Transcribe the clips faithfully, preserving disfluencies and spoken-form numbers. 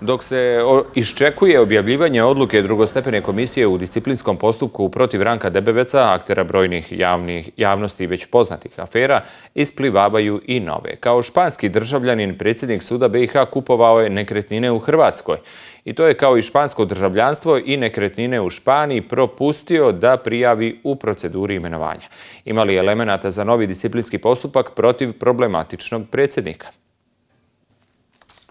Dok se iščekuje objavljivanje odluke drugostepene komisije u disciplinskom postupku protiv Ranka Debevca, aktera brojnih javnih, javnosti i već poznatih afera, isplivavaju i nove. Kao španski državljanin, predsjednik suda B i H kupovao je nekretnine u Hrvatskoj. I to je kao i špansko državljanstvo i nekretnine u Španiji propustio da prijavi u proceduri imenovanja. Ima li elemenata za novi disciplinski postupak protiv problematičnog predsjednika?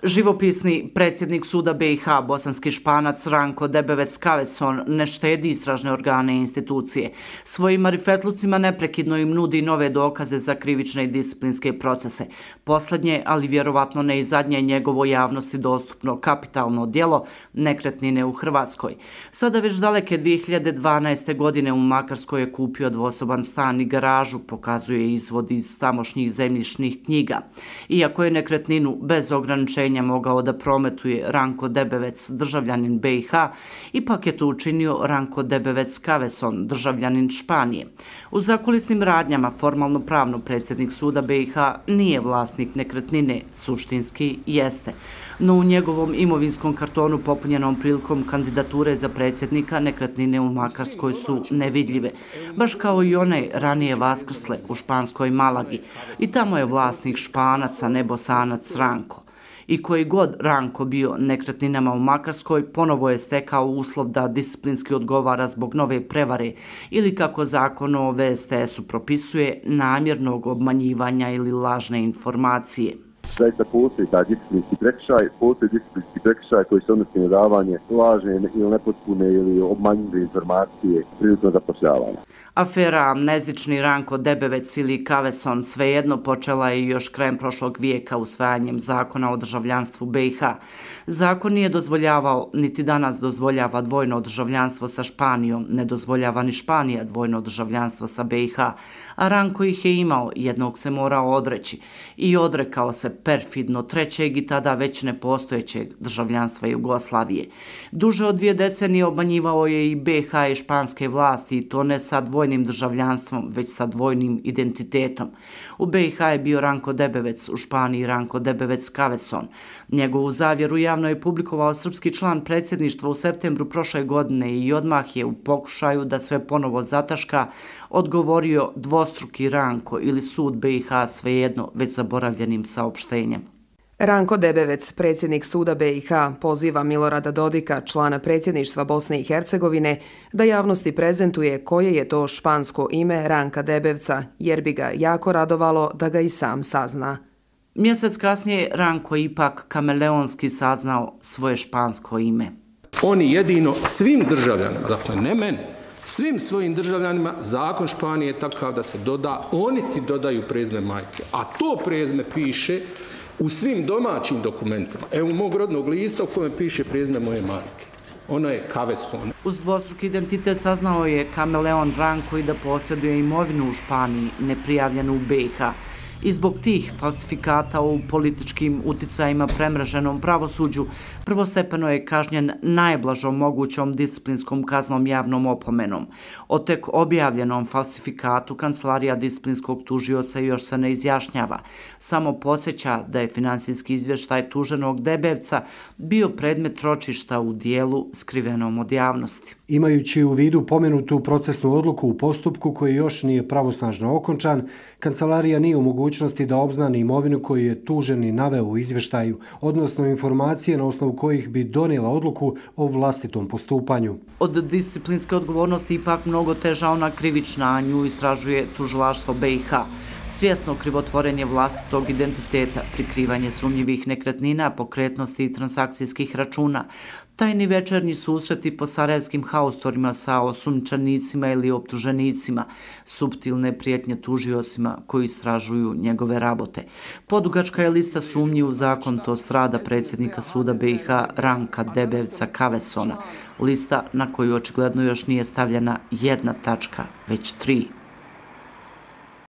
Živopisni predsjednik suda B i H, bosanski Španac Ranko Debevec Kaveson, ne štedi istražne organe i institucije. Svojim marifetlucima neprekidno im nudi nove dokaze za krivične i disciplinske procese. Poslednje, ali vjerovatno ne i zadnje, njegovo javnosti dostupno kapitalno djelo nekretnine u Hrvatskoj. Sada već daleke dvije hiljade dvanaeste. godine u Makarskoj je kupio dvosoban stan i garažu, pokazuje izvod iz tamošnjih zemljišnih knjiga. Iako je nekretninu bez ograničenja mogao da prometuje Ranko Debevec, državljanin B i H, ipak je to učinio Ranko Debevec Kaveson, državljanin Španije. U zakulisnim radnjama formalno pravno predsjednik suda B i H nije vlasnik nekretnine, suštinski jeste. No u njegovom imovinskom kartonu popunjenom prilikom kandidature za predsjednika nekretnine u Makarskoj su nevidljive, baš kao i one ranije vaskrsle u španskoj Malagi. I tamo je vlasnik Španac, a ne Bosanac Ranko. I koji god Ranko bio nekretninama u Makarskoj, ponovo je stekao uslov da disciplinski odgovara zbog nove prevare ili, kako zakon o V S T S-u propisuje, namjernog obmanjivanja ili lažne informacije. Zaista postoji taj disciplinski prekršaj, postoji disciplinski prekršaj koji se odnosi na davanje lažne ili nepotpune ili obmanjive informacije prilikom zapošljavanja. Afera amnezični Ranko Debevec ili Kaveson svejedno počela je još krajem prošlog vijeka usvajanjem zakona o državljanstvu B i H. Zakon nije dozvoljavao, niti danas dozvoljava dvojno državljanstvo sa Španijom, ne dozvoljava ni Španija dvojno državljanstvo sa B i H, a Ranko ih je imao, jednog se morao odreći i odrekao se perfidno trećeg i tada već nepostojećeg državljanstva Jugoslavije. Duže od dvije decenije obmanjivao je i B i H i španske vlasti, i to ne sa dvojnim državljanstvom, već sa dvojnim identitetom. U B i H je bio Ranko Debevec, u Španiji Ranko Debevec Kaveson. Njegovu zavjeru javno je publikovao srpski član predsjedništva u septembru prošle godine i odmah je u pokušaju da sve ponovo zataška odgovorio dvostruki Ranko ili sud B i H, svejedno već zaboravljenim saopštenjem. Ranko Debevec, predsjednik suda B i H, poziva Milorada Dodika, člana predsjedništva Bosne i Hercegovine, da javnosti prezentuje koje je to špansko ime Ranka Debevca, jer bi ga jako radovalo da ga i sam sazna. Mjesec kasnije Ranko ipak kameleonski saznao svoje špansko ime. Oni jedino svim državljanima, dakle ne meni, svim svojim državljanima zakon Španije je takav da se doda, oni ti dodaju prezime majke, a to prezime piše u svim domaćim dokumentima. Evo mog rodnog lista u kojem piše prezime moje majke. Ona je Kaveson. Uz dvostruki identitet saznao je kameleon Ranko i da posjeduje imovinu u Španiji, neprijavljenu u B i H. I zbog tih falsifikata u političkim uticajima premreženom pravosuđu prvostepeno je kažnjen najblažom mogućom disciplinskom kaznom javnom opomenom. O tek objavljenom falsifikatu Kancelarija disciplinskog tužioca još se ne izjašnjava. Samo podsjeća da je finansijski izvještaj tuženog Debevca bio predmet ročišta u dijelu skrivenom od javnosti. Imajući u vidu pomenutu procesnu odluku u postupku koji još nije pravosnažno okončan, Kancelarija nije u mogućnosti da obznani imovinu koju je tuženi naveo u izvještaju, odnosno informacije na osnovu kojih bi donijela odluku o vlastitom postupanju. Od disciplinske odgovornosti ipak mnogo teža ona krivična, a nju istražuje tužilaštvo B i H. Svjesno krivotvorenje vlastitog identiteta, prikrivanje sumnjivih nekretnina, pokretnosti i transakcijskih računa, tajni večernji susreti po sarajevskim haustorima sa osumnjičenicima ili optuženicima, suptilne prijetnje tužiocima koji istražuju njegove rabote. Podugačka je lista sumnji u zakonitost rada predsjednika suda B i H Ranka Debevca Kavesona, lista na koju očigledno još nije stavljena jedna tačka, već tri.